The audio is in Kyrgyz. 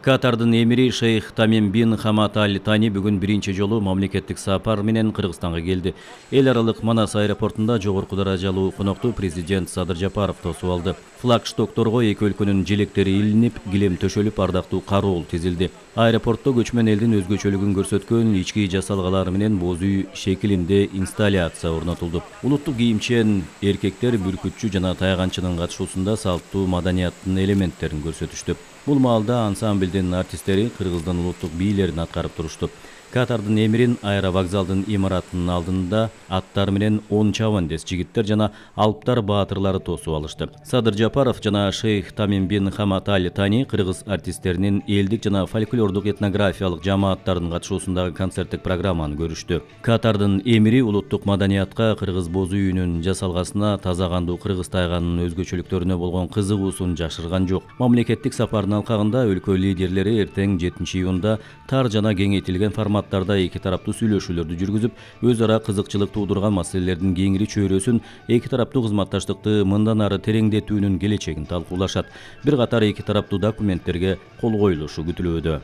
Катардын эмири шейх Тамим бин Хамад Аль Тани бүгүн биринчи жолу мамлекеттик сапар менен Кыргызстанга келди. Эл аралык Манас аэропортунда жогорку даражалуу конокту президент Садыр Жапаров тосуп алды. Флагштокторго эки өлкөнүн желектери илинип, килем төшөлүп, ардактуу кароол тизилди. Аэропортто көчмөн элдин өзгөчөлүгүн көрсөткөн ички жасалгалар менен боз үй шекилинде инсталляция орнотулду. Улуттук кийимчен эркектер бүркүтчү жана тайганчынын катышуусунда салттуу маданияттын элементтерин көрсөтүштү. Бул маалда ансамблдин артисттери Кыргыздын улуттук бийлерин аткарып турушту. Катардын эмирин аэровокзалдын имаратынын алдында аттар менен 10 чабандес жигиттер жана алыптар баатырлары тосуп алышты. Садыр Жапаров жана шейх Тамим бин Хамад Аль Тани кыргыз артисттеринин элдик жана фольклордук этнографиялык жамааттардын катышуусундагы концерттик программаны көрүштү. Катардын эмири улуттук маданиятка, кыргыз боз үйүнүн жасалгасына, таза кандуу кыргыз тайганынын өзгөчөлүктөрүнө болгон кызыгуусун жашырган жок. Мамлекеттик сапардын алкагында өлкө лидерлери эртең 7-июнда тар жана кеңейтилген форматтарда эки тараптуу сүйлөшүүлөрдү жүргүзүп, өз ара кызыкчылык туудурган маселелердин кеңири чөйрөсүн, эки тараптуу кызматташтыкты мындан ары тереңдетүүнүн келечегин талкуулашат. Бир катар эки тараптуу документтерге кол коюлушу күтүлүүдө.